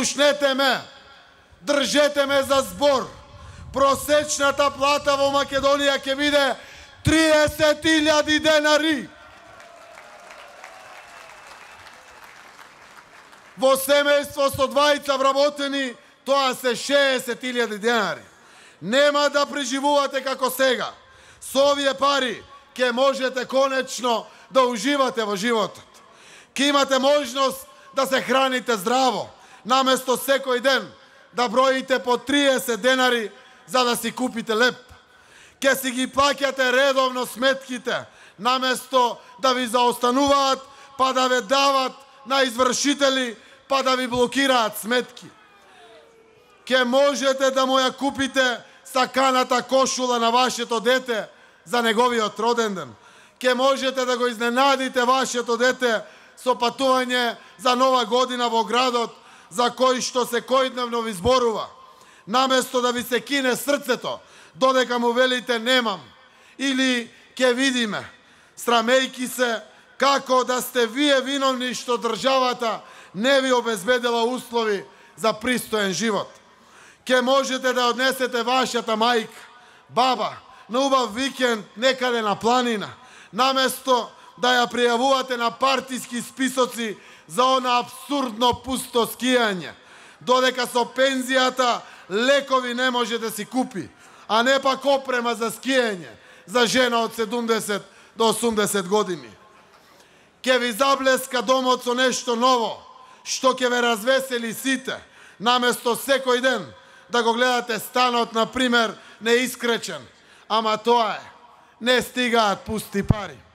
слушнете ме, држете ме за збор. Просечната плата во Македонија ќе биде 30.000 денари. Во семејство со двајца вработени, тоа се 60.000 денари. Нема да преживувате како сега. Со овие пари ќе можете конечно да уживате во животот. Ќе имате можност да се храните здраво, наместо секој ден да броите по 30 денари за да си купите леп. Ќе си ги плаќате редовно сметките, наместо да ви заостануваат, па да ве дават на извршители, па да ви блокираат сметки. Ќе можете да му ја купите саканата кошула на вашето дете за неговиот роден ден. Ќе можете да го изненадите вашето дете со патување за нова година во градот, за кој што секојдневно ви зборува. Наместо да ви се кине срцето, додека му велите немам, или ќе видиме, срамејки се како да сте вие виновни што државата не ви обезбедила услови за пристоен живот. Ќе можете да однесете вашата мајка, баба, на убав викенд некаде на планина, наместо да ја пријавувате на партиски списоци за она абсурдно пусто скијање, додека со пензијата лекови не може да си купи, а не пак опрема за скијање за жена од 70 до 80 години. Ќе ви заблеска домот со нешто ново, што ќе ве развесели сите, наместо секој ден да го гледате станот, например, неискречен. Ама тоа е, не стигаат пусти пари.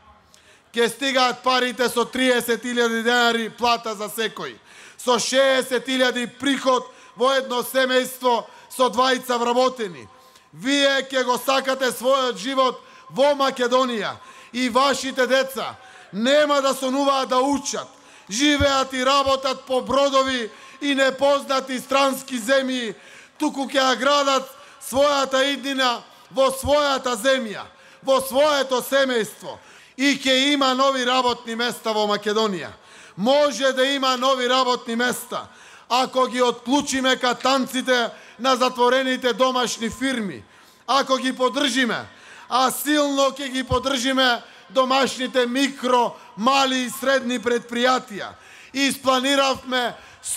Ќе стигаат парите со 30.000 денари плата за секој, со 60.000 приход во едно семејство со двајца вработени. Вие ќе го сакате својот живот во Македонија и вашите деца нема да сонуваат да учат, живеат и работат по бродови и непознати странски земји, туку ќе ја градат својата иднина во својата земја, во своето семејство. И ќе има нови работни места во Македонија. Може да има нови работни места, ако ги отклучиме катанците на затворените домашни фирми, ако ги поддржиме, а силно ќе ги поддржиме домашните микро, мали и средни предпријатија. Испланиравме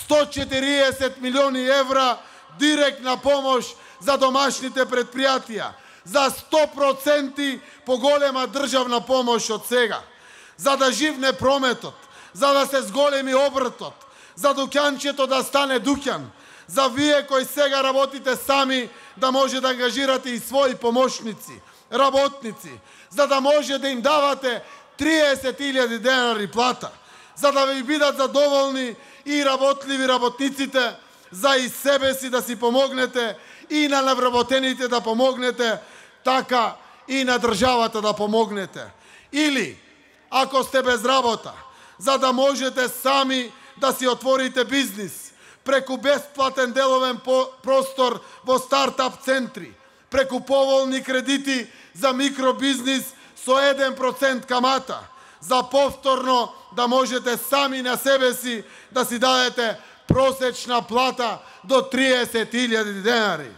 140 милиони евра директна помош за домашните предпријатија, за 100% поголема државна помош од сега, за да живне прометот, за да се зголеми обртот, за дуќанчето да стане дуќан, за вие кои сега работите сами да може да ангажирате и своји помошници, работници, за да може да им давате 30.000 денари плата, за да ви бидат задоволни и работливи работниците, за и себе си да си помогнете и на навработените да помогнете, така и на државата да помогнете. Или, ако сте без работа, за да можете сами да си отворите бизнис, преку бесплатен деловен простор во стартап центри, преку поволни кредити за микробизнис со 1% камата, за повторно да можете сами на себе си да си дадете просечна плата до 30.000 денари.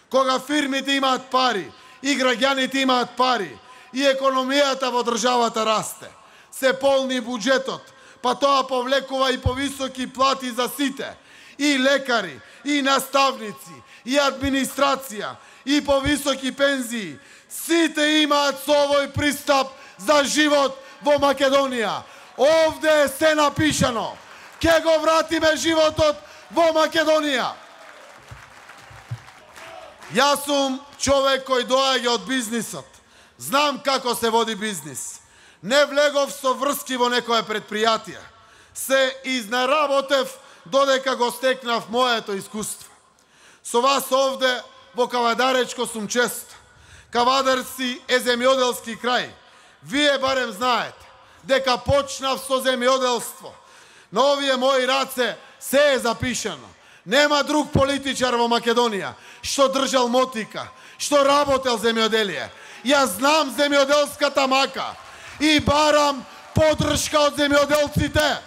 Кога фирмите имаат пари, и граѓаните имаат пари, и економијата во државата расте, се полни буџетот, па тоа повлекува и повисоки плати за сите, и лекари, и наставници, и администрација, и повисоки пензии. Сите имаат со овој пристап за живот во Македонија. Овде е се напишано. Ке го вратиме животот во Македонија. Јас сум човек кој доаѓа од бизнисот. Знам како се води бизнис. Не влегов со врски во некое предпријатие. Се изнаработев додека го стекнав моето искуство. Со вас овде во Кавадаречко сум чест. Кавадарци е земјоделски крај. Вие барем знаете дека почнав со земјоделство. На овие мои раце се е запишано. Нема друг политичар во Македонија што држал мотика, што работел земјоделие. Јас знам земјоделската мака и барам поддршка од земјоделците.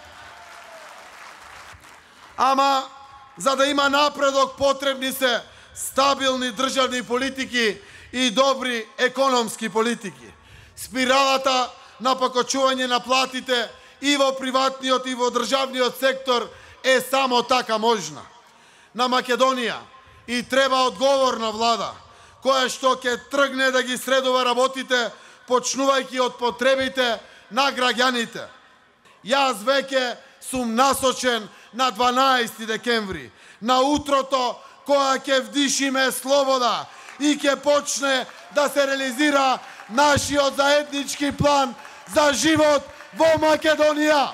Ама За да има напредок потребни се стабилни државни политики и добри економски политики. Спиралата на покачување на платите и во приватниот и во државниот сектор е само така можна. На Македонија и треба одговорна влада, која што ќе тргне да ги средува работите, почнувајќи од потребите на граѓаните. Јас веќе сум насочен на 12 декември, на утрото која ќе вдишиме слобода и ќе почне да се реализира нашиот заеднички план за живот во Македонија.